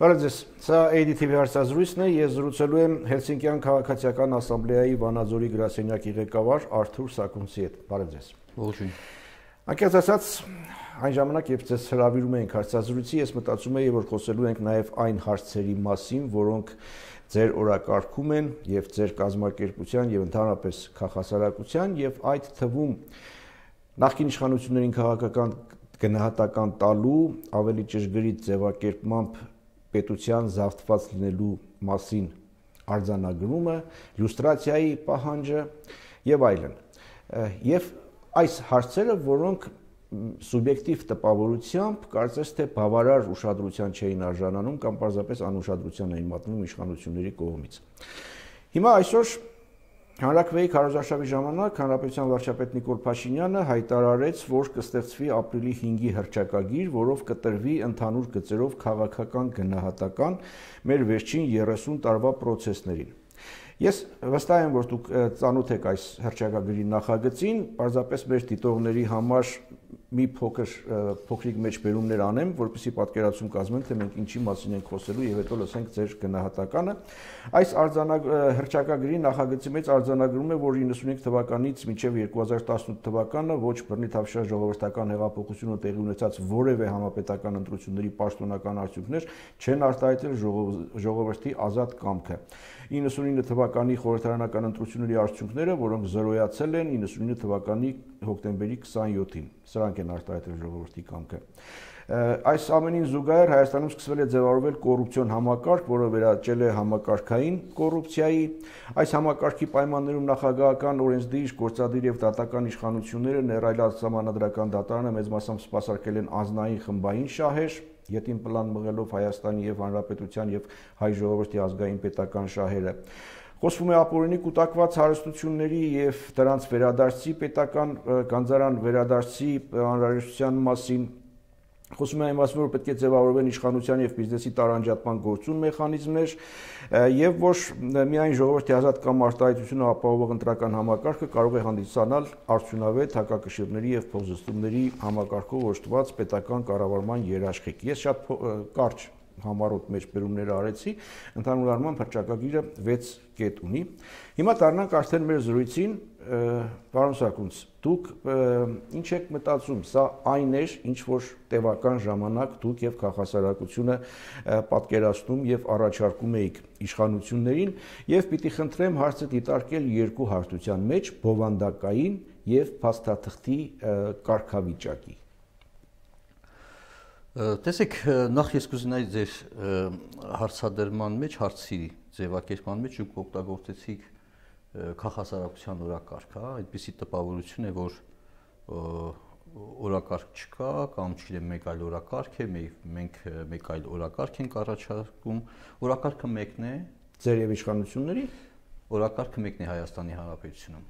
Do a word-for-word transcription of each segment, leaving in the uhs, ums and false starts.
Բարև ձեզ, սա A D T V հարցազրույցն է, ես զրուցելու եմ Հելսինկյան քաղաքացիական ասամբլեայի Վանաձորի գրասենյակի ղեկավար Արթուր Սակունցի հետ։ Բարև ձեզ։ Ողջույն։ Անկեղծ ասած, այն ժամանակ, երբ ձեզ հրավիրում էինք հարցազրույցի, ես մտածում էի, որ խոսելու ենք նաև այն հարցերի մասին, որոնք ձեր օրակարգում են եւ ձեր կազմակերպության եւ ընդհանրապես քաղաքասարակության եւ այդ թվում նախկին իշխանություններին քաղաքական գնահատական տալու ավելի ճշգրիտ ձևակերպմամբ պետության զավթված լինելու մասին արձանագրումը, լյուստրացիայի պահանջը եւ այլն։ Եվ այս հարցերը, որոնք սուբյեկտիվ տպավորությամբ կարծես թե բավարար ուշադրության չէին արժանանում կամ պարզապես անուշադրության էին մատնում իշխանությունների կողմից։ Հիմա այսօր Հանրաքվեի քարոզարշավի ժամանակ Հանրապետության վարչապետ Նիկոլ Փաշինյանը հայտարարեց, որ կստեղծվի ապրիլի հինգի հռչակագիր, որով կտրվի ընդհանուր գծերով քաղաքական գնահատական մեր վերջին երեսուն տարվա process-ներին։ Ես վստահ եմ, որ դուք ծանոթ եք այս հռչակագրի նախագծին, պարզապես մեր դիտողների համար մի փոքր փոքրիկ մեջբերումներ անեմ, որպեսզի պատկերացում կազմենք, թե մենք ինչի մասին ենք խոսելու եւ հետո լսենք ձեր գնահատականը։ Այս հռչակագրի նախագծի մեջ արձանագրում է, որ իննսունինք թվականից մինչև երկու հազար տասնութ թվականը ոչ բռնի թավշյա ժողովրդական հեղափոխությունը տեղի ունեցած որևէ համապետական ընտրությունների պաշտոնական արդյունքներ չեն արտահայտել ժողովրդի ազատ կամքը։ իննսունինը թվականի խորհրդարանական ընտրությունների արդյունքները, որոնք զրոյացել են իննսունինը թվականի հոկտեմբերի քսաներկուսին, սրանք են արտահայտել ժողովրդի կամքը։ Այս ամենին զուգահեռ Հայաստանում սկսվել է ձևավորվել կոռուպցիոն համակարգ, որը վերաճել է համակարգային կոռուպցիայի։ Այս համակարգի պայմաններում նախագահական օրենսդիր, գործադիր եւ դատական իշխանությունները ներառյալ սահմանադրական դատարանը մեծ մասամբ սպասարկել են անձնային խմբային շահեր, ետին պլան մղելով Հայաստանի եւ Հանրապետության եւ հայ ժողովրդի ազգային պետական շահերը։ Խոսվում է ապօրինի կուտակված հարստությունների եւ դրանց վերադարձի պետական գանձարան վերադարձի անհրաժեշտության մասին։ Խոսում է այն մասին, որ պետք է ձևավորվեն իշխանության եւ բիզնեսի տարանջատման գործուն մեխանիզմներ եւ որ միայն ժողովրդի ազատ կամ արտահայտությունը ապահովող ընտրական համակարգը կարող է հանդիսանալ արդյունավետ հակակշիռների եւ փոխզսումների համակարգով օժտված պետական կառավարման երաշխիք։ Ես շատ կարճ համառոտ մեջբերումներ արեցի, ընդհանուր առմամբ հռչակագիրը վեց կետ ունի։ Հիմա դառնանք արդեն մեր զրույցին, պարոն Սակունց, դուք ինչ եք մտածում, սա այն էր, ինչ որ տևական ժամանակ դուք եւ քաղաքասարակությունը պատկերացնում եւ առաջարկում էիք իշխանություններին եւ պիտի խնդրեմ հարցը դիտարկել երկու հարթության մեջ՝ բովանդակային եւ փաստաթղթի կարգավիճակի։ Տեսեք, նախ ես կուզենայի ձեր հարցադրման մեջ, հարցի ձևակերպման մեջ դուք օգտագործեցիք քաղաքասարակության օրակարգ, հա, այդպիսի տպավորություն է, որ օրակարգ չկա կամ չգիտեմ մեկ այլ օրակարգ է, մենք մեկ այլ օրակարգ ենք առաջարկում, օրակարգը մեկն է, ձեր եւ իշխանությունների, օրակարգը մեկն է Հայաստանի Հանրապետությունում։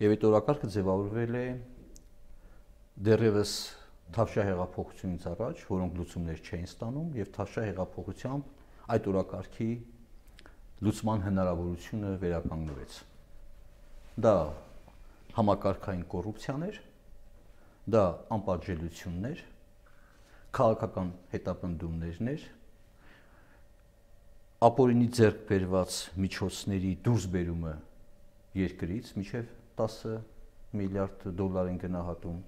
Եվ այդ օրակարգը ձևավորվել է դեռևս Թավշյա հեղափոխությունից առաջ, որոնք լուծումներ չէին ստանում եւ Թավշյա հեղափոխությամբ այդ օրակարգի լուծման հնարավորությունը վերականգնվեց։ Դա համակարգային կոռուպցիաներ, դա անպատժելիություններ, քաղաքական հետապնդումներներ, ապօրինի ձեռք բերված միջոցների դուրսբերումը երկրից մինչև տասը միլիարդ դոլար են գնահատում,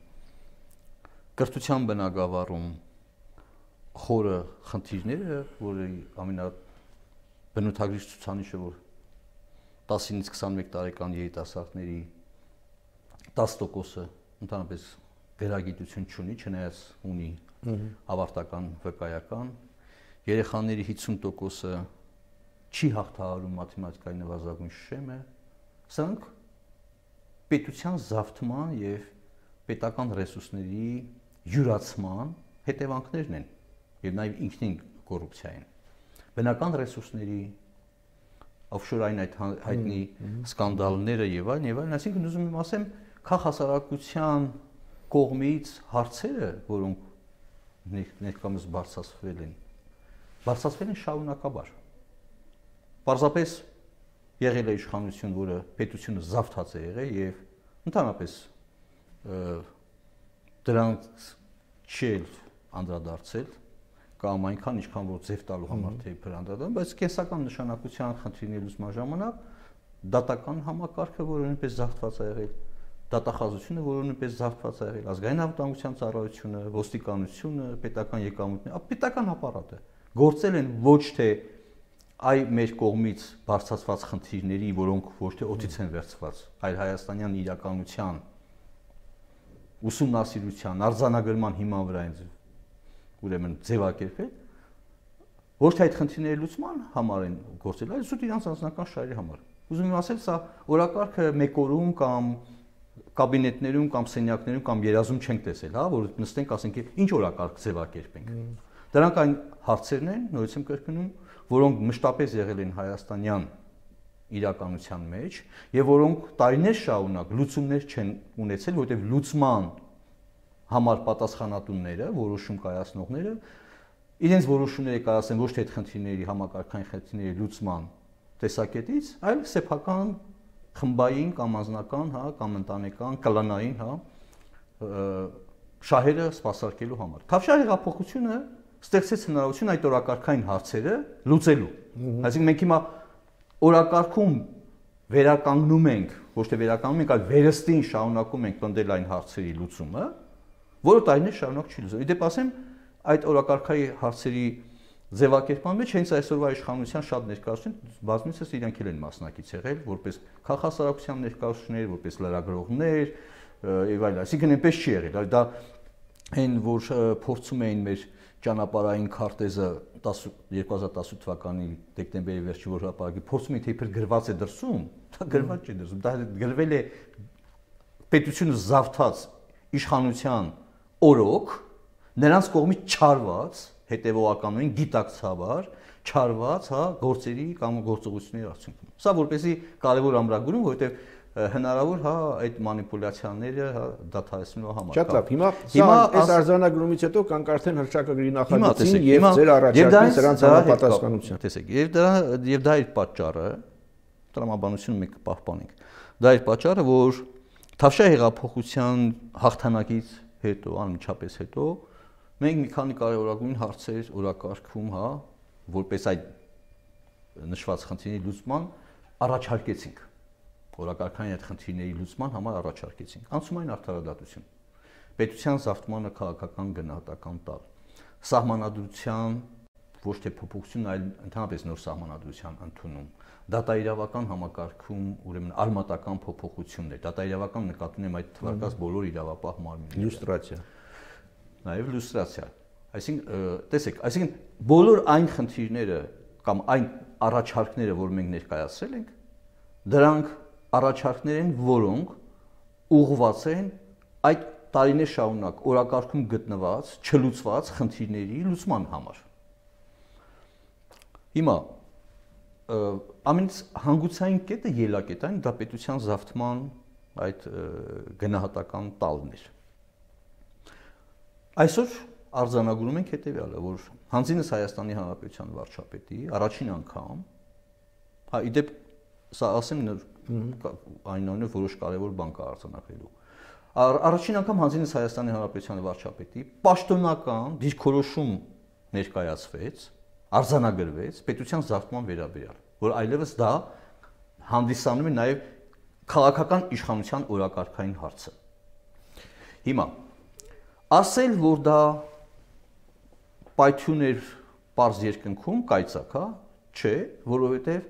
կրթության բնագավառում խորը խնդիրները, որի ամենաբնութագրիչ ցուցանիշը, որ տասնից քսանմեկ տարեկան երիտասարդների տասը տոկոսը ընդհանրապես գրագիտություն չունի, չնայած ունի ավարտական վկայական, երեխաների հիսուն տոկոսը չի հաղթահարում մաթեմատիկայի նվազագույն շեմը, սրանք պետության զավթման եւ պետական ռեսուրսների յուրացման հետևանքներն են եւ նաեւ ինքնին կոռուպցիա են։ Բնական ռեսուրսների օֆշորային այդ հայտնի սկանդալները եւ այլն եւ այլն, այսինքն ուզում եմ ասեմ, քաղաքասարակության կողմից հարցերը, որոնք ներկայումս բարձրացվել են, բարձրացվել են շարունակաբար։ Պարզապես եղել է իշխանություն, որը պետությունը զավթած է եղել եւ ընդհանրապես դրանց չի անդրադարձել կամ այնքան ինչքան որ ձև տալու համար թե բրանդադան, բայց կենսական նշանակության խնդիրների լուծման ժամանակ դատական համակարգը, որը նույնպես զավթված է եղել, դատախազությունը, որը նույնպես զավթված է եղել, ազգային անվտանգության ծառայությունը, ոստիկանությունը, պետական եկամուտները, պետական ապարատը գործել են ոչ թե այ մեր կողմից բարձրացված խնդիրների, որոնք ոչ թե օդից են վերցված, այլ հայաստանյան իրականության ուսումնասիրության, արձանագրման հիման վրա են ուրեմն ձևակերպել, ոչ թե այդ խնդիրների լուծման համար են գործել, այլ զուտ իրանց անձնական շահերի համար։ Ուզում եմ ասել, սա օրակարգը մեկ օրում կամ կաբինետներում կամ սենյակներում կամ երազում չենք տեսել, հա, որ նստենք, ասենք, ինչ օրակարգ ձևակերպենք։ Դրանք այն հարցերն են, նորից եմ կրկնում, որոնք մշտապես եղել են հայաստանյան իրականության մեջ եւ որոնք տարիներ շարունակ լուծումներ չեն ունեցել, որտեղ լուծման համար պատասխանատունները, որոշում կայացնողները իրենց որոշումները կայացնեն ոչ թե այդ խնդիրների համակարգային խնդիրների լուծման տեսակետից, այլ սեփական խմբային կամ անձնական, հա, կամ ընտանեկան, կլանային, հա, շահերը սպասարկելու համար։ Թավշյա հեղափոխությունը ստեղծեց հնարավորություն այդ օրակարգային հարցերը լուծելու։ Այսինքն մենք հիմա օրակարգում վերականգնում ենք, ոչ թե վերականգնում ենք, այլ վերստին շարունակում ենք պնդել այն հարցերի լուծումը, որը տարիներ շարունակ չի լուծվում։ Իդեպ ասեմ, այդ օրակարգային հարցերի ձևակերպման մեջ հենց այսօրվա իշխանության շատ ներկայացուցիչ բազմիցս իրենք էլ են մասնակից եղել, որպես քաղաքասարակության ներկայացուցիչներ, որպես լրագրողներ եւ այլն, այսինքն այնպես չի եղել, այլ դա այն որ փորձում էին մեր ճանապարհային քարտեզը երկու հազար տասութ թվականի դեկտեմբերի վերջին որ հրապարակի փորձում էին թե իբր գրված է դրսում, դա գրված չի դրսում, դա գրվել է պետությունը զավթած իշխանության օրոք, նրանց կողմից չարված, հետևողականորեն գիտակցաբար չարված, հա, գործերի կամ գործողությունների արդյունքում։ Սա որպեսզի կարևոր ամրագրում, որովհետև հնարավոր, հա, այդ մանիպուլյացիաները, հա, դադարեցնելու համար։ Շատ լավ, հիմա սա այս արձանագրումից հետո կան արդեն հռչակագրի նախագծին եւ ձեր առաջարկին սրանց համապատասխանության։ Տեսեք, եւ դրա եւ դա իր պատճառը, տրամաբանությունը մենք կպահպանենք։ Դա իր պատճառը, որ Թավշյա հեղափոխության հաղթանակից հետո, անմիջապես հետո մենք մի քանի կարևորագույն հարցեր օրակարգում, հա, որպես այդ նշված խնդիրների լուծման առաջարկեցինք։ Օրակարգային այդ խնդիրների լուծման համար առաջարկեցինք։ Անցումային արդարադատություն, պետության զավթմանը քաղաքական գնահատական տալ, սահմանադրության ոչ թե փոփոխություն, այլ ընդհանրապես նոր սահմանադրության ընդունում, դատաիրավական համակարգում, ուրեմն արմատական փոփոխություններ, դատաիրավական նկատի ունեմ այդ թվարկած բոլոր իրավապահ մարմինները, լյուստրացիա, նաև լյուստրացիա։ Այսինքն, տեսեք, այսինքն բոլոր այն խնդիրները կամ այն առաջարկները, որ մենք ներկայացրել ենք, դրանք առաջարկներ են, որոնք ուղղված են այդ տարիներ շարունակ օրակարգում գտնված, չլուծված խնդիրների լուծման համար։ Հիմա ամենից հանգուցային կետը ելակետային դա պետության զավթման այդ գնահատական տալն էր։ Այսօր արձանագրում ենք հետևյալը, որ հանձինս Հայաստանի Հանրապետության վարչապետի առաջին անգամ, հա, իդեպ սա ասեմ այնուամենայնիվ որոշ կարևոր բան կա արձանագրելու։ Առաջին անգամ հանձինս Հայաստանի Հանրապետության վարչապետի պաշտոնական դիրքորոշում ներկայացվեց, արձանագրվեց պետության զավթման վերաբերյալ, որ այլևս դա հանդիսանում է նաև քաղաքական իշխանության օրակարգային հարցը։ Հիմա ասել, որ դա պայթյուն էր պարզ երկնքում, կայծակ, հա, չէ, որովհետև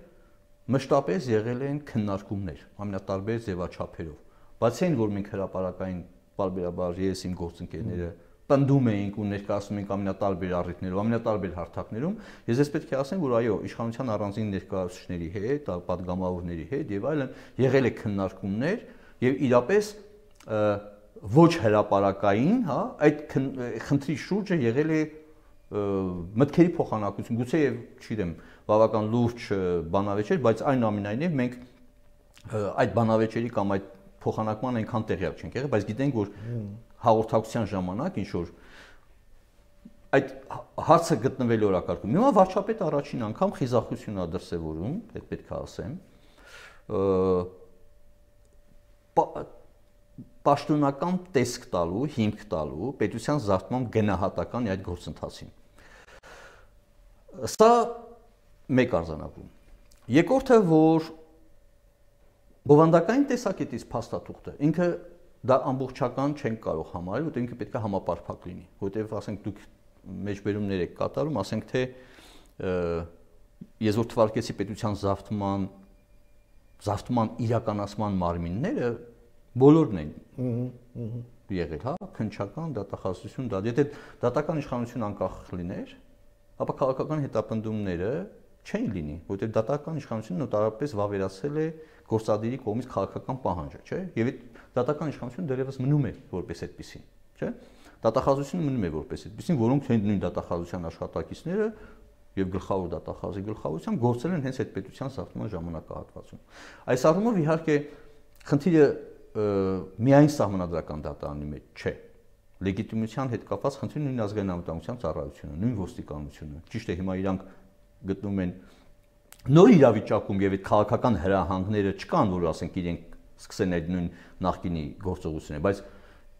մշտապես եղել են քննարկումներ ամենատարբեր ձևաչափերով։ Բացի այն, որ մենք հրապարակային պարբերաբար ես իմ գործընկերները պնդում էինք ու ներկայացնում էինք ամենատարբեր առիթներով, ամենատարբեր հարթակներում, ես ես պետք է ասեմ, որ այո, իշխանության առանձին ներկայացուցիչների հետ, պատգամավորների հետ եւ այլն եղել է քննարկումներ եւ իրապես ոչ հրապարակային, հա, այդ խնդրի շուրջը եղել է մտքերի փոխանակություն, գուցե եւ չգիտեմ, բավական լուրջ բանավեճեր, բայց այնուամենայնիվ մենք այդ բանավեճերի կամ այդ փոխանակման այնքան տեղյակ չենք եղել, բայց գիտենք, որ հաղորդակցության ժամանակ ինչ որ այդ հարցը գտնվել օրակարգում։ Հիմա վարչապետը առաջին անգամ խիզախություն ա դրսևորում, այդ պետք է ասեմ, պաշտոնական տեսք տալու, հիմք տալու պետության զավթման գնահատական այդ գործընթացին։ Սա մեկ արձանագրում։ Երկրորդը, որ բովանդակային տեսակետից փաստաթուղթը ինքը դա ամբողջական չենք կարող համարել, որտեղ ինքը պետք է համապարփակ լինի, որտեղ ասենք դուք մեջբերումներ եք կատարում, ասենք թե ես որ թվարկեցի պետության զավթման զավթման իրականացման մարմինները բոլորն են եղել, հա, քննչական, դատախազություն, դա եթե դատական իշխանություն անկախ լիներ, ապա քաղաքական հետապնդումները չեն լինի, որտեղ դատական իշխանությունը նոտարապես վավերացել է գործադիրի կողմից քաղաքական պահանջը, չէ՞։ Եվ այդ դատական իշխանությունը դեռևս մնում է որպես այդպեսին, չէ՞։ Դատախազությունը մնում է որպես այդպեսին, որոնք նույն դատախազության աշխատակիցները եւ գլխավոր դատախազի գլխավորությամբ գործել են հենց այդ պետության զավթման ժամանակահատվածում։ Այս առումով իհարկե խնդիրը միայն սահմանադրական դատարանի մեջ չէ։ Լեգիտիմության հետ կապված խնդիրը նույն ազգային անվտանգության ծառայությունը, նույն ոստիկանությունը։ Ճիշտ է, հիմա իրանք գտնում են նոր իրավիճակում եւ այդ քաղաքական հրահանգները չկան, որ ասենք իրենք սկսեն այդ նույն նախկինի գործողությունները, բայց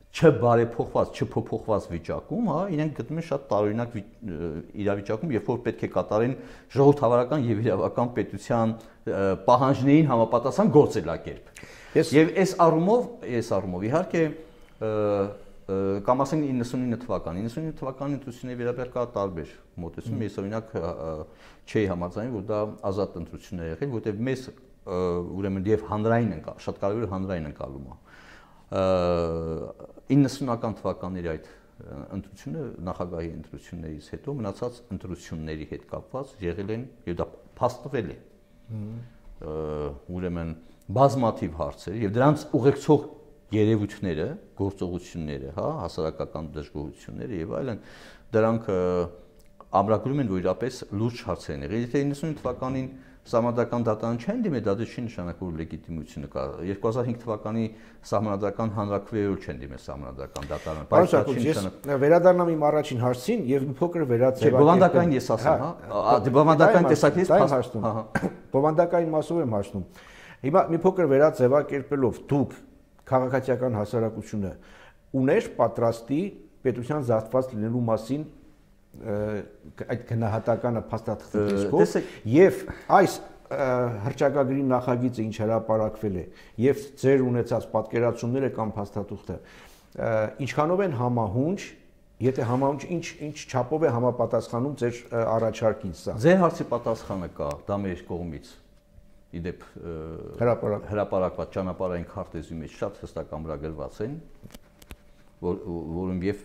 չբարեփոխված, չփոփոխված վիճակում, հա, իրենք գտնում են շատ տարօրինակ իրավիճակում, երբ որ պետք է կատարեն ժողովրդավարական եւ իրավական պետության պահանջներին համապատասխան գործելակերպ։ Եվ այս առումով, այս առումով իհարկե կամ ասենք իննսունինը թվական, իննսունինը թվականի ընտրությունների վերաբերյալ կա տարբեր մոտեցում, ես օրինակ չէի համաձայնում, որ դա ազատ ընտրություններ է եղել, որտեղ մեզ ուրեմն եւ հանրային են, շատ կարևոր է հանրային ընկալումը։ իննսունական թվականների այդ ընտրությունը նախագահի ընտրություններից հետո մնացած ընտրությունների հետ կապված եղել են եւ դա փաստվել է։ Ուրեմն բազմաթիվ հարցեր եւ դրանց ուղեկցող երևույթները, գործողությունները, հա, հասարակական դժգոհությունները եւ այլն, դրանք ամրագրում են, որ իրապես լուրջ հարցեր են եղել։ Եթե իննսունինը թվականին սահմանադրական դատարան չեն դիմել, դա չի նշանակում, որ լեգիտիմությունը կա։ երկու հազար հինգ թվականի սահմանադրական հանրաքվեով չեն դիմել սահմանադրական դատարանը։ Բայց դա չի նշանակում։ Վերադառնամ իմ առաջին հարցին եւ մի փոքր վերաձևակերպեմ։ Բովանդակային ես ասեմ, հա, բովանդակային տեսակետից փաստում։ Բովանդակային մասով եմ հասնում։ Հիմա մի փոքր վերաձևակերպելով դուք քաղաքացիական հասարակությունը ուներ պատրաստի պետության զավթված լինելու մասին այդ գնահատականը փաստաթղթի տեսքով եւ այս հռչակագրի նախագիծը ինչ հրապարակվել է եւ ձեր ունեցած պատկերացումները կամ փաստաթուղթը ինչքանով են համահունչ, եթե համահունչ ինչ ինչ չափով է համապատասխանում ձեր առաջարկին սա։ Ձեր հարցի պատասխանը կա, դա մեր կողմից իդեպ հրապարակված ճանապարհային քարտեզի մեջ շատ հստակ ամրագրված են, որում եւ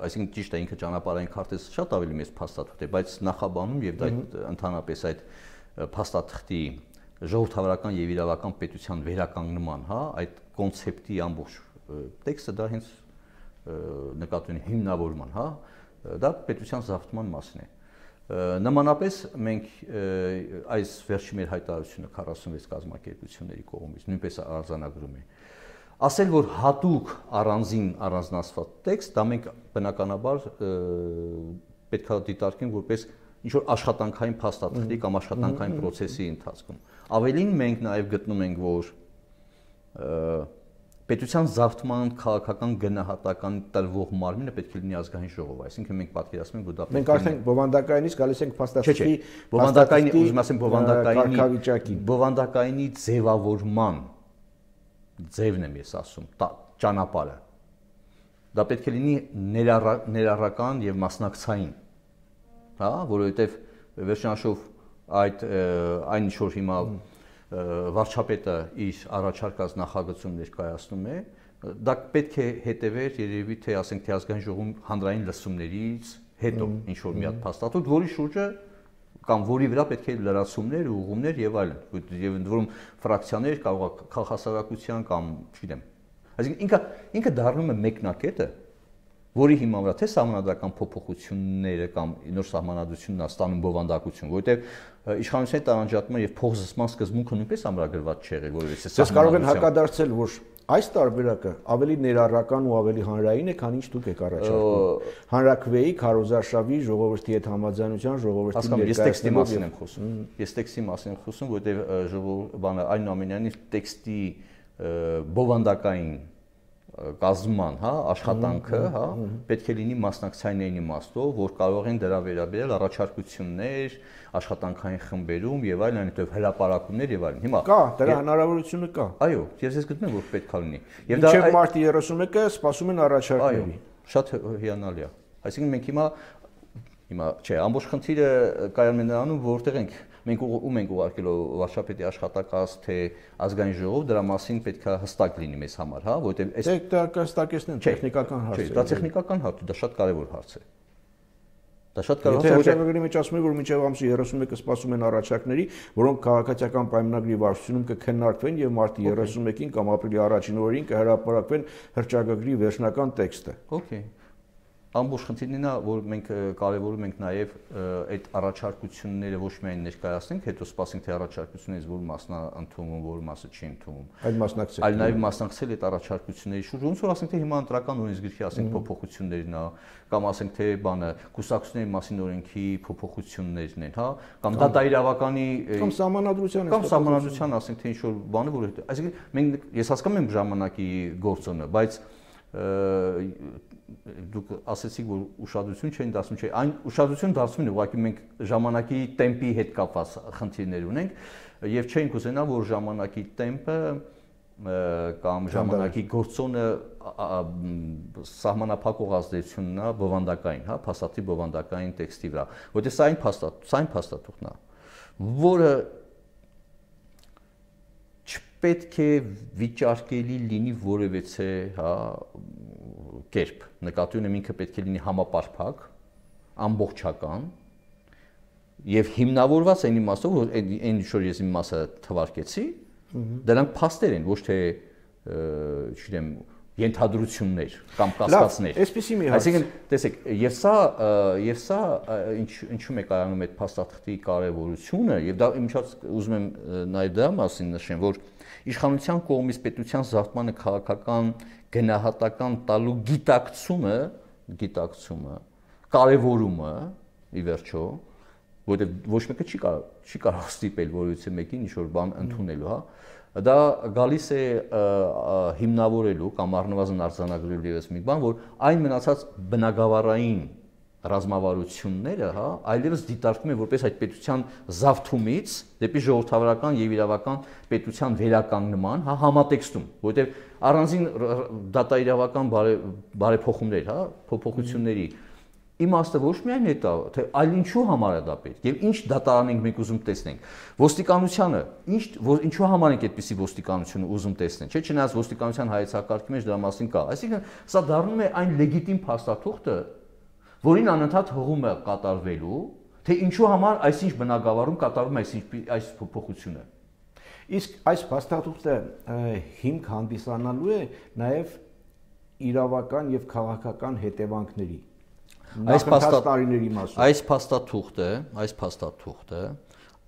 այսինքն ճիշտ է ինքը ճանապարհային քարտեզը շատ ավելի մեծ փաստաթղթ է, բայց նախաբանում եւ դա ընդհանրապես այդ փաստաթղթի ժողովրդավարական եւ իրավական պետության վերականգնման, հա, այդ կոնցեպտի ամբողջ տեքստը դա հենց նկատի ունի հիմնավորման, հա, դա պետության զավթման մասին է։ Նմանապես մենք այս վերջի մեր հայտարարությունը քառասունվեց կազմակերպությունների կողմից նույնպես արձանագրում է։ Ասել, որ հատուկ առանձին առանձնացված տեքստ, դա մենք բնականաբար պետք է դիտարկենք որպես ինչ-որ աշխատանքային փաստաթղթի կամ աշխատանքային process-ի ընթացքում։ Ավելին մենք նաև գտնում ենք, որ պետության զավթման քաղաքական գնահատական տրվող մարմինը պետք է լինի ազգային ժողով, այսինքն մենք պատկերացնում ենք, որ դա մենք արդեն բովանդակայինից գալիս ենք փաստաթղթի բովանդակայինի, ուզում ասեմ բովանդակայինի բովանդակայինի ձևավորման ձևն եմ ես ասում, ճանապարհը։ Դա պետք է լինի ներառական եւ մասնակցային, հա, որովհետեւ վերջնաշով այդ այն ինչ որ հիմա վարչապետը իր առաջարկած նախագծում ներկայացնում է, դա պետք է հետևեր երևի թե ասենք թե ազգային ժողովում հանրային լսումներից հետո ինչ որ մի հատ փաստաթուղթ, որի շուրջը կամ որի վրա պետք է լրացումներ, ուղղումներ եւ այլն, եւ ընդ որում ֆրակցիաներ կարող է քաղաքասարակության կամ չգիտեմ։ Այսինքն ինքը ինքը դառնում է մեկնակետը, որի հիման վրա թե սահմանադրական փոփոխությունները կամ նոր սահմանադրությունն է ստանում բովանդակություն, որովհետեւ իշխանությունների տարանջատման եւ փոխզսման սկզբունքը նույնպես ամրագրված չէ եղել, որովհետեւ Ես կարող եմ հակադարձել, որ այս տարբերակը ավելի ներառական ու ավելի հանրային է, քան ինչ դուք եք առաջարկում։ Հանրաքվեի, քարոզարշավի, ժողովրդի հետ համաձայնության, ժողովրդի ներկայացման մասին եմ խոսում։ Ես տեքստի մասին եմ խոսում, որովհետեւ բանը այնուամենայնիվ տեքստի բովանդակային կազմման, հա, աշխատանքը, հա, պետք է լինի մասնակցային իմաստով, որ կարող են դրա վերաբերել առաջարկություններ, աշխատանքային խմբերում եւ այլն, այնտեղ հրապարակումներ եւ այլն։ Հիմա կա, դրա հնարավորությունը կա։ Այո, ես ես գտնում եմ, որ պետք է լինի։ Եվ դա մարտի երեսունմեկը սպասում են առաջարկների։ Այո, շատ հիանալի է։ Այսինքն մենք հիմա հիմա չէ, ամբողջ խնդիրը կայանում է նրանում, որտեղ ենք մենք ում ենք ուղարկելու վարչապետի աշխատակաց թե ազգային ժողով, դրա մասին պետք է հստակ լինի մեզ համար, հա, որովհետև այս դա կհստակեցնեն տեխնիկական հարց է։ Դա տեխնիկական հարց է, դա շատ կարևոր հարց է։ Դա շատ կարևոր է։ Հաշվագրի մեջ ասում է, որ մինչև ամսի երեսունմեկը սպասում են առաջարկների, որոնք քաղաքացիական պայմանագրի վարչությունում կքննարկվեն եւ մարտի երեսունմեկին կամ ապրիլի առաջին օրերին կհրապարակվեն հռչակագրի վերջնական տեքստը։ Okay։ Ամբողջ խնդիրն է, որ մենք կարևորում ենք նաև այդ առաջարկությունները ոչ միայն ներկայացնենք, հետո սպասենք թե առաջարկություններից որ մասն է ընդունվում, որ մասը չի ընդունվում։ Այլ մասնակցել։ Այլ նաև մասնակցել այդ առաջարկությունների շուրջ, ոնց որ ասենք թե հիմա ընտրական օրենսգիրքի ասենք փոփոխություններն է, կամ ասենք թե բանը կուսակցությունների մասին օրենքի փոփոխություններն են, հա, կամ դատաիրավականի կամ սահմանադրության կամ սահմանադրության ասենք թե ինչ որ բանը, որ այսինքն մենք ես հասկանում եմ ժամանակի գործոնը, բայց դուք ասեցիք որ ուշադրություն չեն դարձնում, չէ, այն ուշադրություն դարձնում են, ուղղակի մենք ժամանակի տեմպի հետ կապված խնդիրներ ունենք եւ չենք ուզենա որ ժամանակի տեմպը կամ ժամանակի գործոնը սահմանափակող ազդեցությունն է բովանդակային, հա, փաստաթղթի բովանդակային տեքստի վրա, որտեղ սա այն փաստաթ, սա այն փաստաթուղթն է, որը չպետք է վիճարկելի լինի որևէ, հա, կերպ, նկատի ունեմ ինքը պետք է լինի համապարփակ, ամբողջական եւ հիմնավորված այն իմաստով, որ այն ինչ որ ես իմ մասը թվարկեցի, դրանք փաստեր են, ոչ թե, չգիտեմ, ենթադրություններ կամ կասկածներ։ Այսպեսի մի հարց։ Այսինքն, տեսեք, եւ սա եւ սա ինչ ինչու՞մ է կայանում այդ փաստաթղթի կարեւորությունը, եւ դա իմիջած ուզում եմ նաեւ դրա մասին նշեմ, որ իշխանության կողմից պետության զարգմանը քաղաքական գնահատական տալու գիտակցումը, գիտակցումը, կարևորումը, ի վերջո, որտեղ ոչ մեկը չի կարող չի կարող ստիպել որևէ մեկին ինչ որ բան ընդունելու, հա, դա գալիս է հիմնավորելու կամ առնվազն արձանագրելու ևս մի բան, որ այն մնացած բնագավառային ռազմավարությունները, հա, այլևս դիտարկվում են որպես այդ պետության զավթումից դեպի ժողովրդավարական եւ իրավական պետության վերականգնման, հա, համատեքստում, որովհետեւ առանձին դատաիրավական բարեփոխումներ, հա, փոփոխությունների իմաստը ոչ միայն է դա, թե այլ ինչու համար է դա պետք եւ ինչ դատարան ենք մենք ուզում տեսնենք։ Ոստիկանությանը, ինչ որ ինչու համար ենք այդպիսի ոստիկանությունը ուզում տեսնել, չէ՞, չնայած ոստիկանության հայեցակարգի մեջ դրա մասին կա։ Այսինքն սա դառնում է այն լեգիտիմ փաստաթուղթը, որին անընդհատ հղում է կատարվելու, թե ինչու համար այսինչ բնագավառում կատարվում է այսինչ այս փոփոխությունը։ Իսկ այս փաստաթուղթը հիմք հանդիսանալու է նաև իրավական եւ քաղաքական հետևանքների։ Այս փաստաթղթերի մասով այս փաստաթուղթը, այս փաստաթուղթը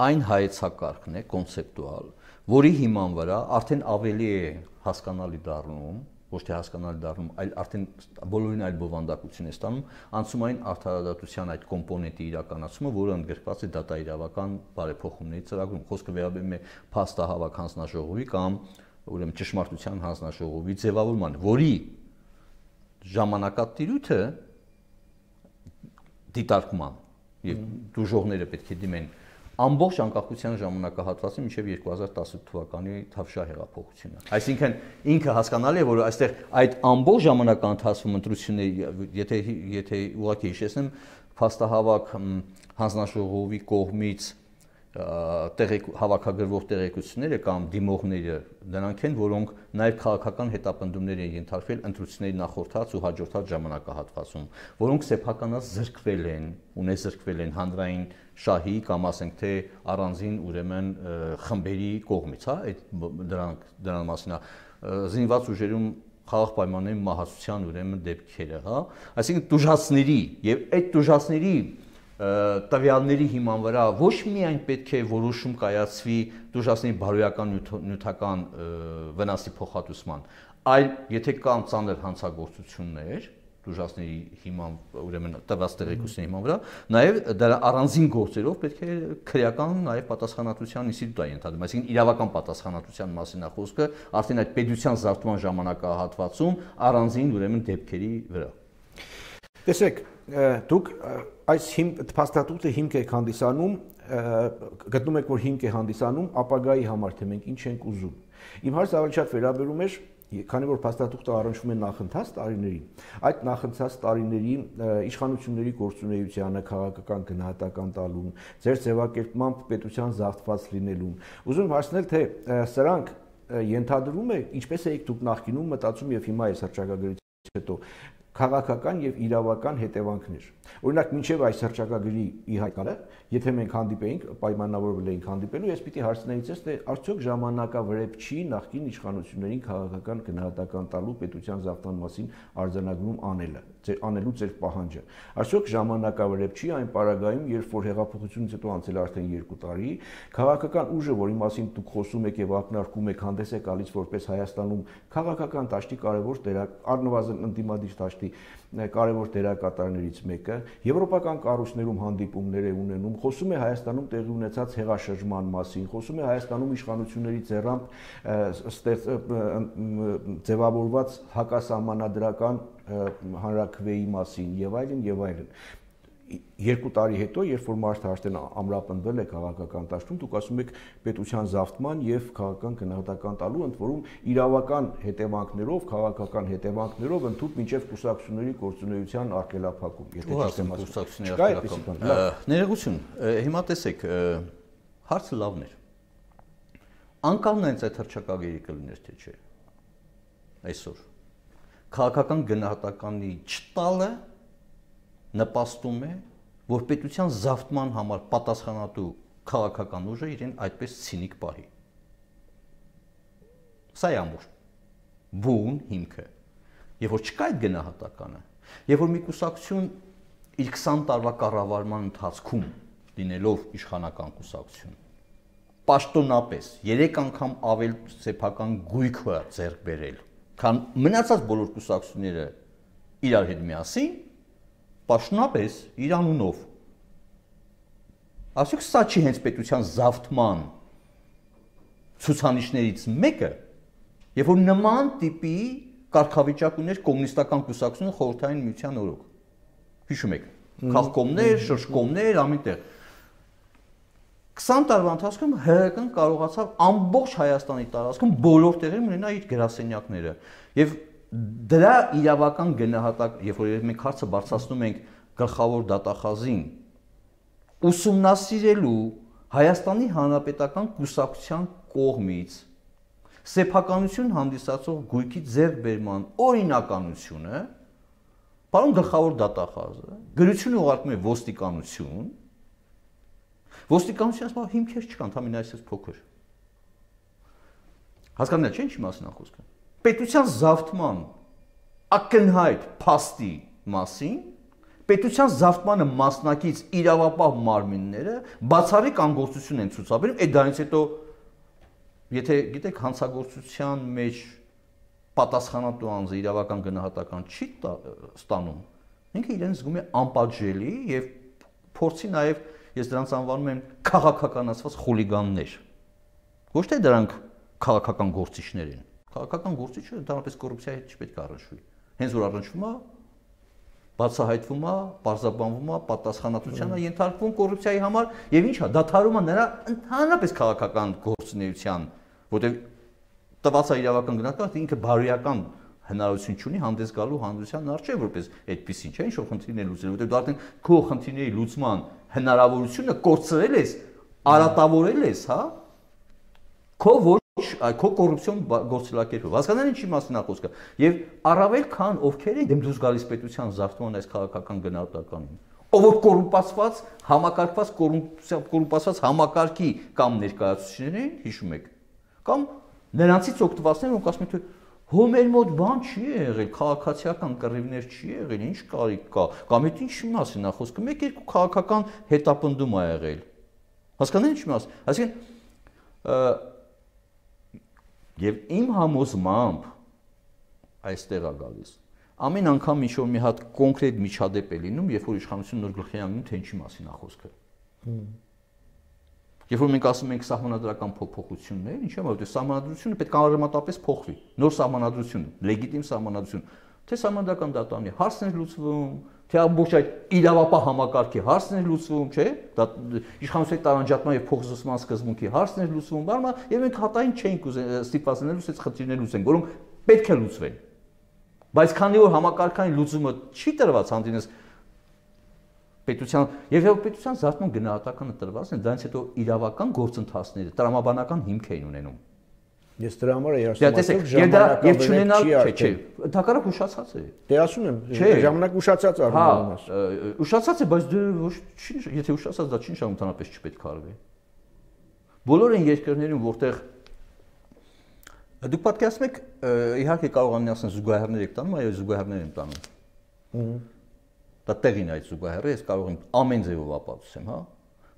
այն հայեցակարգն է կոնցեպտուալ, որի հիման վրա արդեն ավելի է հասկանալի դառնում, ոչ թե հասկանալի դառնում, այլ արդեն բոլորին այլ բովանդակություն է ստանում անցումային արդարադատության այդ կոմպոնենտի իրականացումը, որը ընդգրկված է դատաիրավական բարեփոխումների ծրագրում։ Խոսքը վերաբերում է փաստահավաք հանձնաժողովի կամ ուրեմն ճշմարտության հանձնաժողովի ձևավորման, որի ժամանակատիրույթը դիտարկման եւ դժողները պետք է դիմեն ամբողջ անկախության ժամանակահատվածին մինչև երկու հազար տասութ թվականի Թավշյա հեղափոխությունը։ Այսինքն ինքը հասկանալի է, որ այստեղ այդ ամբողջ ժամանակահատվածում ընտրությունների, եթե եթե ուղղակի հիշեցնեմ, փաստահավաք հանձնաժողովի կողմից տեղեկ հավաքագրվող տեղեկությունները կամ դիմողները նրանք են, որոնք նաև քաղաքական հետապնդումներ են ենթարկվել ընտրությունների նախորդած ու հաջորդած ժամանակահատվածում, որոնք սեփականած զրկվել են, ունեզրկվել են հանրային շահի կամ ասենք թե առանձին ուրեմն խմբերի կողմից, հա, այդ դրանք դրան մասին է զինված ուժերում խաղաղ պայմանների մահացության ուրեմն դեպքերը, հա, այսինքն դժվարների եւ այդ դժվարների տվյալների հիման վրա ոչ միայն պետք է որոշում կայացվի դժվարների բարոյական նյութական վնասի փոխհատուցման, այլ եթե կան ծանր հանցագործություններ, դժվարների հիման ուրեմն տված տեղեկությունների հիման վրա, նաև դրա առանձին գործերով պետք է քրեական նաև պատասխանատվության ինստիտուտ է ենթադրում, այսինքն իրավական պատասխանատվության մասին է խոսքը արդեն այդ պետության զարգացման ժամանակահատվածում առանձին ուրեմն դեպքերի վրա։ Տեսեք, դուք այս փաստաթուղթը հիմք եք հանդիսանում, գտնում եք, որ հիմք է հանդիսանում ապագայի համար, թե մենք ինչ ենք ուզում։ Իմ հարցը ավելի շատ վերաբերում էր, քանի որ փաստաթուղթը առնչվում է նախընթաց տարիներին, այդ նախընթաց տարիների իշխանությունների գործունեությանը, քաղաքական գնահատական տալուն, ձեր ձևակերպմամբ պետության զավթված լինելուն։ Ուզում եմ հարցնել, թե սրանք ենթադրում է, ինչպես եք դուք նախկինում մտածում եւ հիմա այս հռչակագրից հետո քաղաքական եւ իրավական հետևանքներ։ Օրինակ, մինչեւ այս հռչակագրի ի հայտ գալը, եթե մենք հանդիպեինք, պայմանավորվել էինք հանդիպելու, ես պիտի հարցնեի ձեզ, թե արդյոք ժամանակավրեպ չի նախկին իշխանություններին քաղաքական գնահատական տալու պետության զավթման մասին արձանագրում անելը, ձեր անելու ձեր պահանջը։ Արդյոք ժամանակավրեպ չի այն պարագայում, երբ որ հեղափոխությունից հետո անցել արդեն երկու տարի, քաղաքական ուժը, որի մասին դուք խոսում եք եւ ակնարկում եք, հանդես է գալիս որպես Հայաստանում քաղաքական դաշտի կարևոր դերակ, առնվազն ընդդիմադիր դաշտի կարևոր դերակատարներից մեկը, եվրոպական կառույցներում հանդիպումներ է ունենում, խոսում է Հայաստանում տեղի ունեցած հեղաշրջման մասին, խոսում է Հայաստանում իշխանությունների ձեռամբ ձևավորված հակասահմանադրական հանրաքվեի մասին եւ այլն եւ այլն։ Երկու տարի հետո, երբ որ մարդը արդեն ամրապնդվել է քաղաքական դաշտում, դուք ասում եք պետության զավթման եւ քաղաքական գնահատական տալու, ընդ որում իրավական հետևանքներով, քաղաքական հետևանքներով ընդհանուր մինչեւ կուսակցությունների գործունեության արգելափակում, եթե ճիշտ եմ ասում։ Ներողություն, հիմա տեսեք, հարցը լավն էր։ Անկալն այնց այդ հռչակագրի կլիներ թե չէ։ Այսօր քաղաքական գնահատականի չտալը նպաստում է, որ պետության զավթման համար պատասխանատու քաղաքական ուժը իրեն այդպես ցինիկ պահի։ Սա է ամուր բուն հիմքը։ Եվ որ չկա այդ գնահատականը, եւ որ մի կուսակցություն իր քսան տարվա կառավարման ընթացքում լինելով իշխանական կուսակցություն, պաշտոնապես երեք անգամ ավել սեփական գույք է ձեռք բերել, քան մնացած բոլոր կուսակցությունները իրար հետ միասին, պաշտոնապես իր անունով։ Ասեք, սա չի հենց պետության զավթման ցուցանիշներից մեկը, եւ որ նման տիպի կարգավիճակ ուներ կոմունիստական կուսակցությունը խորհրդային միության օրոք։ Հիշում եք, քաղկոմներ, շրջկոմներ, ամենտեղ։ քսան տարվա ընթացքում ՀՀԿ-ն կարողացավ ամբողջ Հայաստանի տարածքում բոլոր տեղերում ունենալ իր գրասենյակները եւ դրա իրավական գնահատակ, երբ որ մենք հարցը բարձրացնում ենք գլխավոր դատախազին, ուսումնասիրելու Հայաստանի Հանրապետական կուսակցության կողմից սեփականություն հանդիսացող գույքի ձեռքբերման օրինականությունը, պարոն գլխավոր դատախազը գրություն ուղարկում է ոստիկանություն, ոստիկանությունը ասում է հիմքեր չկան, ընդամենը այսպես փոքր։ Հասկանալի չէ՞ ինչի մասին է խոսքը։ Պետության զավթման ակնհայտ փաստի մասին պետության զավթմանը մասնակից իրավապահ մարմինները բացառիկ անգործություն են ցուցաբերում, այդ դրանից հետո եթե գիտեք հանցագործության մեջ պատասխանատու անձը իրավական գնահատական չի ստանում, ինքը իրեն զգում է անպատժելի եւ փորձի նաեւ ես դրանց անվանում եմ քաղաքականացված խուլիգաններ։ Ոչ թե դրանք քաղաքական գործիչներ են։ Քաղաքական գործիչը ընդհանրապես կոռուպցիայի հետ չպետք է առնչվի։ Հենց որ առնչվում է, բացահայտվում է, պարզաբանվում է, պատասխանատվության է ենթարկվում կոռուպցիայի համար եւ ինչա, դադարում է նրա ընդհանրապես քաղաքական գործունեության, որտեղ տված է իրավական գնահատական, ինքը բարոյական հնարավորություն չունի հանդես գալու հանրության առջև որպես այդպեսին, չէ՞, ինչ-որ խնդիրներ լուծելու, որտեղ դու արդեն քո խնդիրների լուծման հնարավորությունը կորցրել ես, արատավորել ես, հա։ Քո ոչ քո կոռուպցիոն գործելակերպով։ Հասկանալի ինչի մասին է խոսքը։ Եվ առավել քան ովքեր են դեմ դուրս գալիս պետության զարգացման այս քաղաքական գնահատականին։ Ով որ կոռումպացված, համակարգված կոռումպացված համակարգի կամ ներկայացուցիչներ են, հիշում եք, կամ նրանցից օգտվածներ, ոնք ասում են, թե հո մեր մոտ բան չի եղել, քաղաքացիական կռիվներ չի եղել, ինչ կարիք կա, կամ այդ ինչի մասին է խոսքը, մեկ-երկու քաղաքական հետապնդում ա եղել։ Հասկանալի ինչի մասին։ Այսինքն եւ իմ համոզմամբ այստեղ է գալիս ամեն անգամ ինչ-որ մի հատ կոնկրետ միջադեպ է լինում, երբ որ իշխանությունը նոր գլխի անգնում, թե ինչի մասին է խոսքը։ Երբ որ մենք ասում ենք սահմանադրական փոփոխություններ, ինչի՞ է, որովհետև սահմանադրությունը պետք է արմատապես փոխվի։ Նոր սահմանադրություն, լեգիտիմ սահմանադրություն, թե սահմանադրական դատանի հարցն է լուծվում, թե ամբողջ այդ իրավապահ համակարգի հարցն է լուծվում, չէ՞։ Դա իշխանության տարանջատման եւ փոխզսման սկզբունքի հարցն է լուծվում, բառը, եւ մենք հատային չենք ստիպված լինելու այս խնդիրները լուծենք, որոնք պետք է լուծվեն։ Բայց քանի որ համակարգային լուծումը չի տրված հանդինես պետության եւ եւ պետության զարգացման գնահատականը տրված է, դրանից հետո իրավական գործընթացները տրամաբանական հիմք էին ունենում։ Ես դրա համար երաշտում ժամանակը եւ չունենալ չէ, չէ, ընդհանրապես ուշացած է։ Դե ասում եմ, ժամանակ ուշացած արվում է։ Հա, ուշացած է, բայց դե ոչ չի, եթե ուշացած դա չի նշանակում ընդհանրապես չպետք է արվի։ Բոլոր այն երկրներում, որտեղ դուք պատկերացնում եք, իհարկե կարող են ասեն զուգահեռներ եք տանում, այո, զուգահեռներ են տանում։ Դա տեղին այդ զուգահեռը, ես կարող եմ ամեն ձևով ապացուցեմ, հա։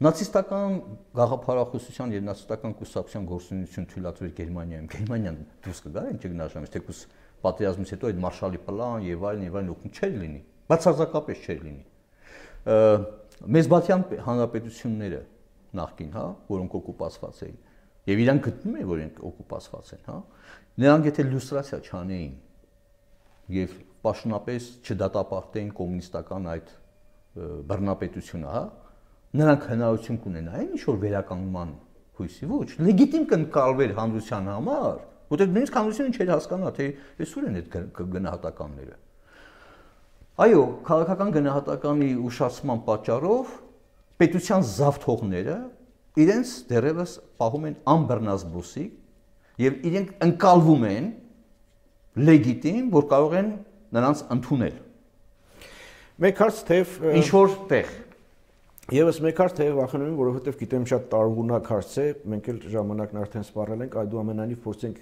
Նացիստական գաղափարախոսության եւ նացիստական կուսակցության գործունեություն թույլատրել Գերմանիայում, Գերմանիան դուրս կգա, ինչ կգնահատեմ, թեկուզ պատերազմից հետո այդ մարշալի պլան եւ այլն եւ այլն օգուտ չէր լինի, բացարձակապես չէր լինի։ Մեզբաթյան հանրապետությունները նախկին, հա, որոնք օկուպացված էին եւ իրանք գտնում են, որ իրենք օկուպացված են, հա, նրանք եթե լյուստրացիա չանեին եւ պաշտոնապես չդատապարտեին կոմունիստական այդ բռնապետությունը, հա, նրանք հնարավորություն կունենային ինչ-որ վերականգնման հույսի, ոչ, լեգիտիմ կընկալվեր հանրության համար, որտեղ նույնիսկ հանրությունը չէր հասկանա, թե ես ուր են այդ գնահատականները։ Այո, քաղաքական գնահատականի ուշացման պատճառով պետության զավթողները իրենց դեռևս պահում են անբռնազբոսիկ եւ իրենք ընկալվում են լեգիտիմ, որ կարող են նրանց ընդունել։ Մեկ հարց թեև ինչ որ տեղ Եվս մեկ հարց թեև վախենում եմ, որովհետև գիտեմ շատ տարողունակ հարց է, մենք էլ ժամանակն արդեն սպառել ենք, այդուամենայնիվ փորձենք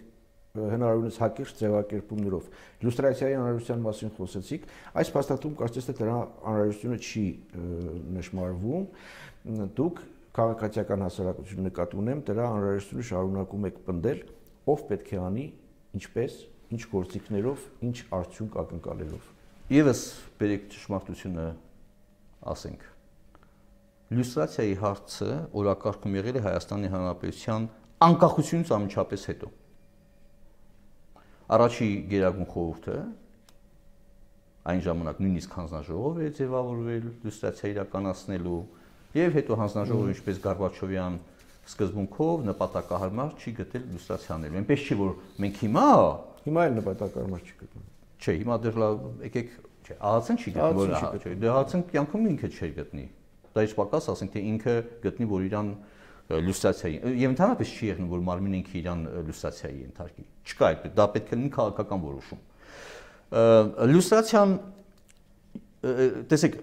հնարավորինս հակիրճ ձևակերպումներով։ Իլյուստրացիայի անհրաժեշտության մասին խոսեցիք, այս փաստաթուղթում կարծես թե դրա անհրաժեշտությունը չի նշмарվում։ Դուք քաղաքացիական հասարակություն նկատի ունեմ, դրա անհրաժեշտությունը շարունակում եք պնդել, ով պետք է անի, ինչպես, ինչ գործիքներով, ինչ արդյունք ակնկալելով։ Եվս բերեք ճշմարտությունը ասենք։ Իլյուստրացիայի հարցը օրակարգում եղել է Հայաստանի Հանրապետության անկախությունից անմիջապես հետո։ Առաջի գերագույն խորհուրդը այն ժամանակ նույնիսկ հանձնաժողով է ձևավորվել իլյուստրացիա իրականացնելու եւ հետո հանձնաժողովը ինչպես Գորբաչովյան սկզբունքով նպատակահարմար չի գտել իլյուստրացիաներում։ Այնպես չի որ մենք հիմա հիմա էլ նպատակահարմար չի գտնում։ Չէ, հիմա դեռ լավ եկեք, չէ, ԱԱՑ-ն չի գտնում, չէ, դե ԱԱՑ-ն կյանքում ինքը չէր գտնի։ Դա ինչ պակաս ասենք թե ինքը գտնի որ իրան լյուստրացիայի եւ ընդհանրապես չի եղնում որ մարմինը ինքը իրան լյուստրացիայի ենթարկի չկա այդ դա պետք է լինի քաղաքական որոշում լյուստրացիան տեսեք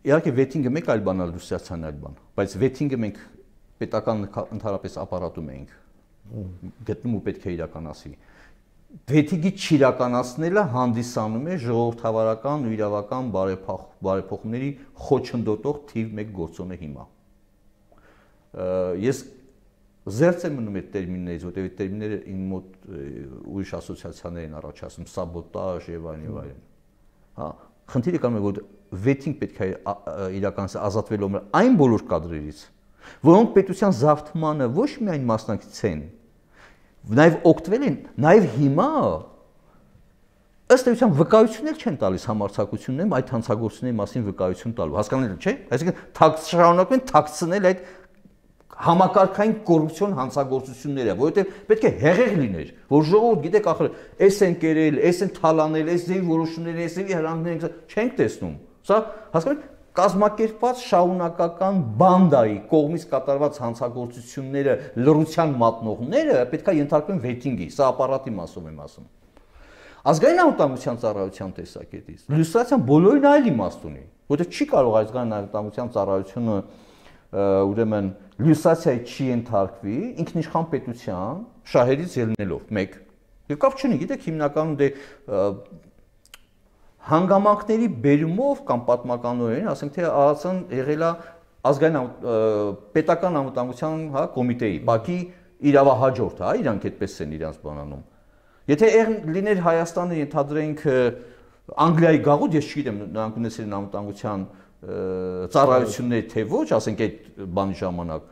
իհարկե վեթինգը մեկ այլ բան է լյուստրացիան այլ բան բայց վեթինգը մենք պետական ընդհանրապես ապարատում ենք գտնում ու պետք է իրականացվի վեթինգի չիրականացնելը հանդիսանում է ժողովրդավարական ու իրավական բարեփոխումների խոչընդոտող թիվ մեկ գործոն է հիմա ես զերծ եմ մնում այդ տերմիններից, որտեղ այդ տերմինները իմ մոտ ուրիշ ասոցիացիաներ են առաջացնում, սաբոտաժ եւ այլն եւ այլն։ Հա, խնդիրը կանում է որ վեթինգ պետք է իրականացնել ազատվելով այն բոլոր կադրերից, որոնք պետության զավթմանը ոչ միայն մասնակից են, նաեւ օգտվել են, նաեւ հիմա ըստ էության վկայություններ չեն տալիս համարձակություններում այդ հանցագործությունների մասին վկայություն տալու։ Հասկանալի չէ՞։ Այսինքն թաքց շարունակում են թաքցնել այդ համակարգային կոռուպցիոն հանցագործությունները, որովհետև պետք է հեղեղ լիներ, որ ժողովուրդ գիտեք ախր, էս են կերել, էս են թալանել, էս ձեւի որոշումներ, էս ձեւի հրանքներ չենք տեսնում։ Սա հասկանու՞մ եք, կազմակերպված շարունակական բանդայի կողմից կատարված հանցագործությունները լռության մատնողները պետք է ենթարկվեն վեթինգի, սա ապարատի մասով եմ ասում։ Ազգային անվտանգության ծառայության տեսակետից լյուստրացիան բոլորին այլ իմաստ ունի, որովհետև չի կարող ազգային անվտանգության ծառայությունը ուրեմն լյուստրացիայի չի ենթարկվի ինքնիշխան պետության շահերից ելնելով մեկ եւ կապ չունի գիտեք հիմնականում դե հանգամանքների բերումով կամ պատմականորեն ասենք թե ԱԱՑ-ն եղել է ազգային պետական անվտանգության հա կոմիտեի բակի իրավահաջորդ հա իրանք այդպես են իրանց բանանում եթե եղն լիներ Հայաստանը ենթադրենք Անգլիայի գաղութ ես չգիտեմ նրանք ունեցել են անվտանգության ծառայությունների թե ոչ, ասենք այդ բանի ժամանակ,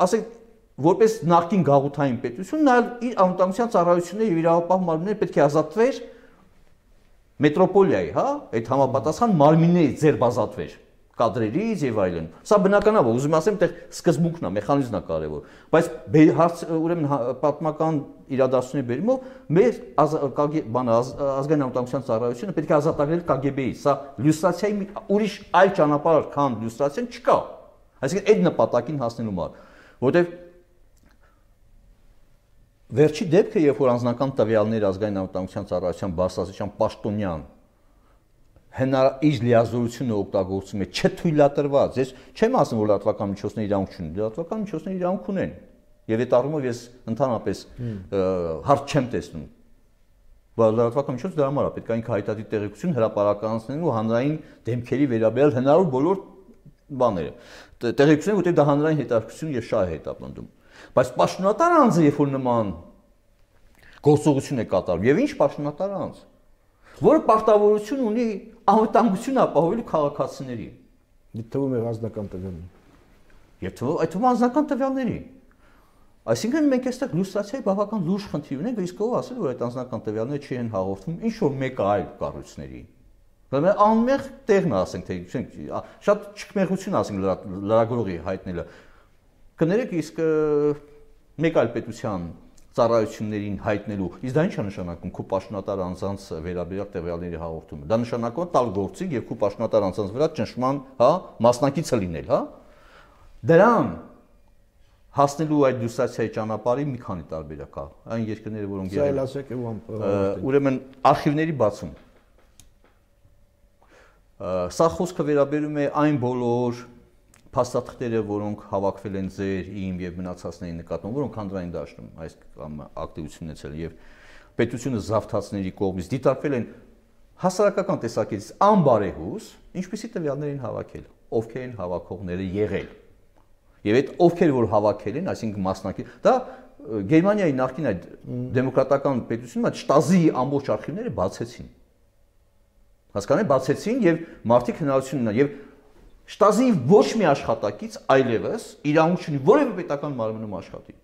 ասենք որպես նախկին գաղութային պետություն, նա իր անվտանգության ծառայությունները եւ իրավապահ մարմինները պետք է ազատվեր մետրոպոլիայի, հա, այդ համապատասխան մարմիններից ձերբազատվեր կադրերից եւ այլն։ Սա բնական է, ուզում ասեմ, այդտեղ սկզբունքն է, մեխանիզմն է կարեւոր, բայց հարց ուրեմն պատմական իրադարձությունների բերումով մեր բանը ազգային անվտանգության ծառայությունը պետք է ազատագրել Կ Գ Բ-ից։ Սա լյուստրացիայի ուրիշ այլ ճանապարհ քան լյուստրացիան չկա։ Այսինքն այդ նպատակին հասնելու համար, որտեղ վերջի դեպքը, երբ որ անձնական տվյալներ ազգային անվտանգության ծառայության բարձրաստիճան պաշտոնյան հնարավոր իր լիազորությունը օգտագործում է չթույլատրված, ես չեմ ասում, որ լրատվական միջոցները իրավունք չունեն, լրատվական միջոցները իրավունք ունեն, եւ այդ առումով ես ընդհանրապես հարց չեմ տեսնում, բայց լրատվական միջոցը դրա համար է, պետք է ինքը հայտարարի տեղեկություն հրապարականցնելու հանրային դեմքերի վերաբերյալ հնարավոր բոլոր բաները, տեղեկությունները, որտեղ դա հանրային հետաքրքրություն եւ շահ է հետապնդում, բայց պաշտոնատար անձը, երբ որ նման գործողություն է կատարում, եւ ինչ պաշտոնատար անձ, որը պարտավորություն ունի անվտանգություն ապահովելու քաղաքացիների։ Դե թվում է անձնական տվյալների։ Եվ թվում այդ թվում անձնական տվյալների։ Այսինքն մենք այստեղ լյուստրացիայի բավական լուրջ խնդիր ունենք, իսկ ով ասել, որ այդ անձնական տվյալները չի են հաղորդվում ինչ որ մեկ այլ կառույցների։ Բայց անմեղ տեղն է, ասենք, թե շատ չկմեղություն ասենք լրագրողի հայտնելը։ Կներեք, իսկ մեկ այլ պետության ծառայություններին հայտնելու, իսկ դա ինչ է նշանակում քո պաշտոնատար անձանց վերաբերյալ տվյալների հաղորդումը։ Դա նշանակում է տալ գործիք եւ քո պաշտոնատար անձանց վրա ճնշման, հա, մասնակիցը լինել, հա։ Դրան հասնելու այդ լյուստրացիայի ճանապարհի մի քանի տարբերակ կա։ Այն երկրները, որոնք Սա էլ ասեք եւ ուրեմն արխիվների բացում։ Սա խոսքը վերաբերում է այն բոլոր փաստաթղթերը, որոնք հավաքվել են ձեր, իմ եւ մնացածների նկատմամբ, որոնք հանրային դաշտում այս ակտիվությունն ունեցել եւ պետությունը զավթացների կողմից դիտարկվել են հասարակական տեսակետից անբարեհուս, ինչպիսի տվյալներ են հավաքել, ովքեր են հավաքողները եղել։ Եվ այդ ովքեր որ հավաքել են, այսինքն մասնակից, դա Գերմանիայի նախկին այդ դեմոկրատական պետությունը շտազի ամբողջ արխիվները բացեցին։ Հասկանալի բացեցին եւ մարդիկ հնարավորություն ունեն եւ շտազի ոչ մի աշխատակից այլևս իրավունք չունի որևէ պետական մարմնում աշխատի։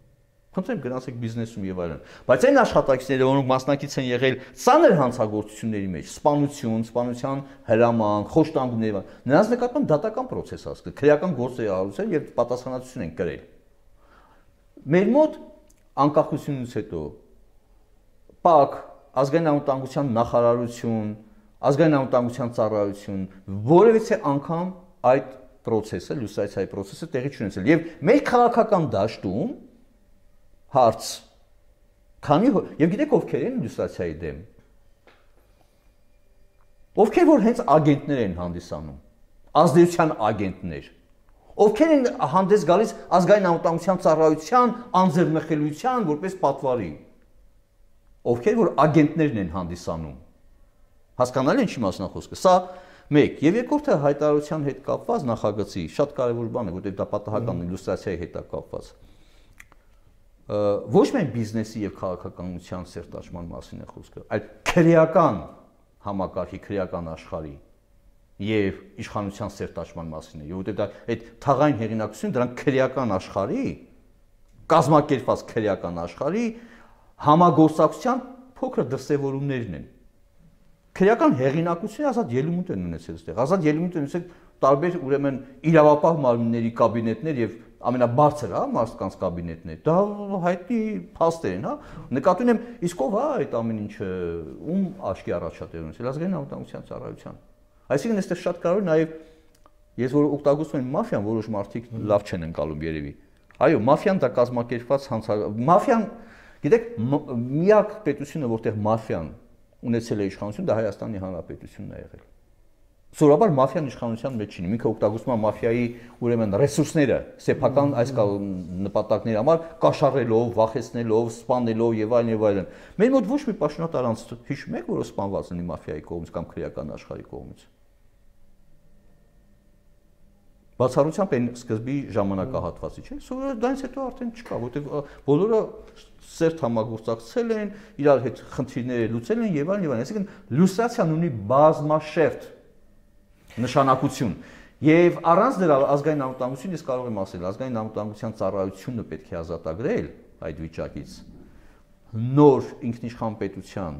Խնդրեմ գնացեք բիզնեսում եւ այլն։ Բայց այն աշխատակիցները, որոնք մասնակից են եղել ծանր հանցագործությունների մեջ, սպանություն, սպանության հրամանք, խոշտանգումներ, նրանց նկատմամբ դատական process ասկը, քրեական գործ է արարել եւ պատասխանատվություն են կրել։ Մեր մոտ անկախությունից հետո ՊԱԿ, ազգային անվտանգության նախարարություն, ազգային անվտանգության ծառայություն որևիցե անգամ այդ process-ը, լյուստրացիայի process-ը տեղի չունեցել եւ մեր քաղաքական դաշտում հարց քանի եւ գիտեք ովքեր են լյուստրացիայի դեմ, ովքեր որ հենց ագենտներ են հանդիսանում, ազդեցության ագենտներ, ովքեր են հանդես գալիս ազգային անվտանգության ծառայության անձեռնխելիության որպես պատվարի, ովքեր որ ագենտներն են հանդիսանում, հասկանալի է ինչի մասն է խոսքը, սա մեկ եւ երկրորդը հայտարարության հետ կապված նախագծի շատ կարեւոր բան է, որտեղ դա պատահական իլյուստրացիայի հետ է կապված։ Ոչ միայն բիզնեսի եւ քաղաքականության սերտաճման մասին է խոսքը, այլ քրեական համակարգի, քրեական աշխարհի եւ իշխանության սերտաճման մասին է, որտեղ դա այդ թաղային հեղինակությունը դրանք քրեական աշխարհի, կազմակերպված քրեական աշխարհի համագործակցության փոքր դրսևորումներն են։ Քրեական հեղինակությունը ազատ ելույթ են ունեցել այստեղ, ազատ ելույթ են ունեցել տարբեր ուրեմն իրավապահ մարմինների կաբինետներ եւ ամենաբարձր, հա, մարդկանց կաբինետներ։ Դա հայտնի փաստեր են, հա։ Նկատի ունեմ, իսկ ով է այդ ամեն ինչը ում աչքի առաջատեր ունեցել, ազգային անվտանգության ծառայության։ Այսինքն այստեղ շատ կարևոր նաեւ ես որ օգտագործում եմ մաֆիան, որոշ մարդիկ լավ չեն ընկալում երևի։ Այո, մաֆիան դա կազմակերպված հանցագ մաֆիան, գիտեք, միակ պետությունը, որտեղ մաֆիան ունեցել է իշխանություն, դա Հայաստանի Հանրապետությունն է եղել։ Սովորաբար մաֆիան իշխանության մեջ չի, ինքը օգտագործում է մաֆիայի ուրեմն ռեսուրսները, սեփական այս նպատակների համար կաշառելով, վախեցնելով, սպանելով եւ այլն եւ այլն։ Մեր մոտ ոչ մի պաշտոնատար անձ հիշում եք, որ սպանված լինի մաֆիայի կողմից կամ քրեական աշխարհի կողմից։ Բացառությամբ այն սկզբի ժամանակահատվածի, չէ՞։ Սովորաբար դրանից հետո արդեն չկա, որովհետև բոլորը սերտ համագործակցել են, իրար հետ խնդիրները լուծել են եւ այլն եւ այլն։ Այսինքն լյուստրացիան ունի բազմաշերտ նշանակություն։ Եվ առանց դրա ազգային անվտանգություն, ես կարող եմ ասել, ազգային անվտանգության ծառայությունը պետք է ազատագրել այդ վիճակից։ Նոր ինքնիշխան պետության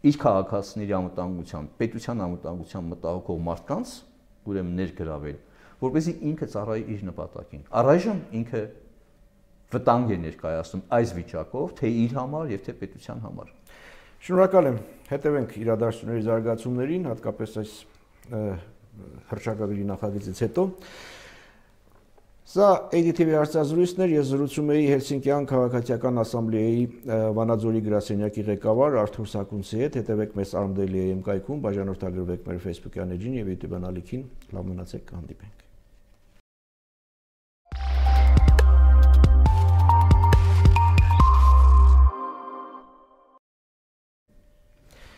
իր քաղաքացիների անվտանգության, պետության անվտանգության մտահոգող մարդկանց ուրեմն ներգրավել, որպեսզի ինքը ծառայի իր նպատակին։ Առայժմ ինքը վտանգ է ներկայացնում այս վիճակով, թե իր համար եւ թե պետության համար։ Շնորհակալ եմ։ Հետևենք իրադարձությունների զարգացումներին, հատկապես այս հռչակագրի նախագծից հետո։ Սա A D T V հարցազրույցներ, ես զրուցում էի Հելսինկյան քաղաքացիական ասամբլեայի Վանաձորի գրասենյակի ղեկավար Արթուր Սակունցի հետ։ Հետևեք մեզ Armdaily A M կայքում, բաժանորդագրվեք մեր Facebook-յան էջին եւ YouTube-յան ալիքին։ Լավ մնացեք, կհանդիպենք։